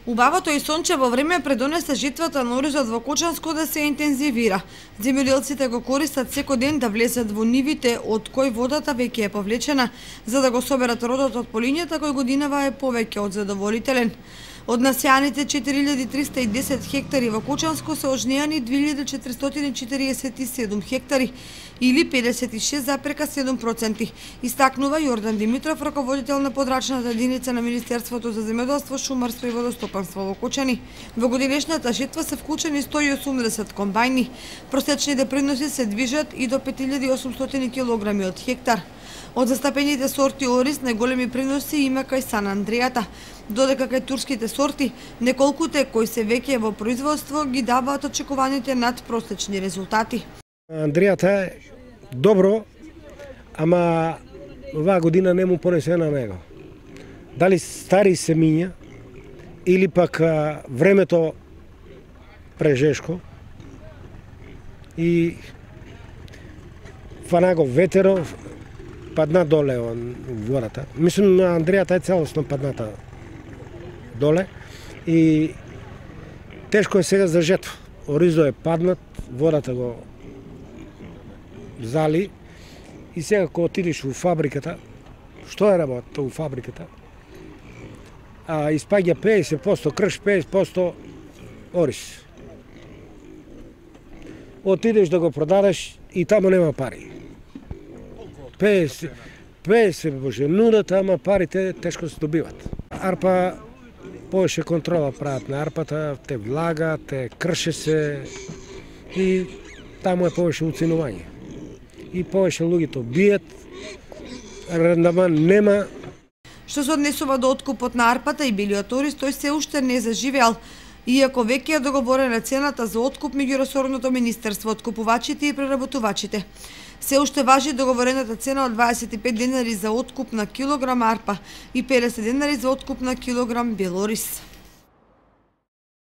Убавото и сончево време предонесе жетвата на оризот во Кочанско да се интензивира. Земјоделците го користат секој ден да влезат во нивите од кој водата веќе е повлечена, за да го соберат родот од полињата кој годинава е повеќе од задоволителен. Од насеаните 4310 хектари во Кочанско се ожнеани 2447 хектари или 56,7%, истакнува Јордан Димитров, раководител на подрачната единица на Министерството за земјоделство, шумарство и водостопанство во Кочани. Во годинешната жетва се вклучени 180 комбајни. Просечните приноси се движат и до 5800 килограми од хектар. Од застапените сорти ориз најголеми приноси има кај Сан Андрејата, додека кај турските сорти неколкуте кои се веќе во производство ги даваат очекуваните надпросечни резултати. Андрејата е добро, ама оваа година не му понесе на него. Дали стари семиња или пак времето прежешко и фана го ветеров, падна доле водата. Мислам, на Андрејата е целосно падната доле и тешко е сега за жетва. Оризо е паднат, водата го зали и сега кога отидеш во фабриката, што е работа во фабриката? Испаѓа 50% крш, 50% ориз. Отидеш да го продадеш и тамо нема пари. 50 може нудата, ама парите тешко се добиват. Арпа повеќе контрола прават на арпата, те влага, те крше се и таму е повеќе уценување. И повеќе луѓето бијат, рендаман нема. Што се однесува до откупот на арпата и белиот ориз, тој се уште не заживеал, иако веќе е договорена цената за откуп меѓу ресорното министерство, откупувачите и преработувачите. Се уште важи договорената цена од 25 денари за откуп на килограм арпа и 50 денари за откуп на килограм бел ориз.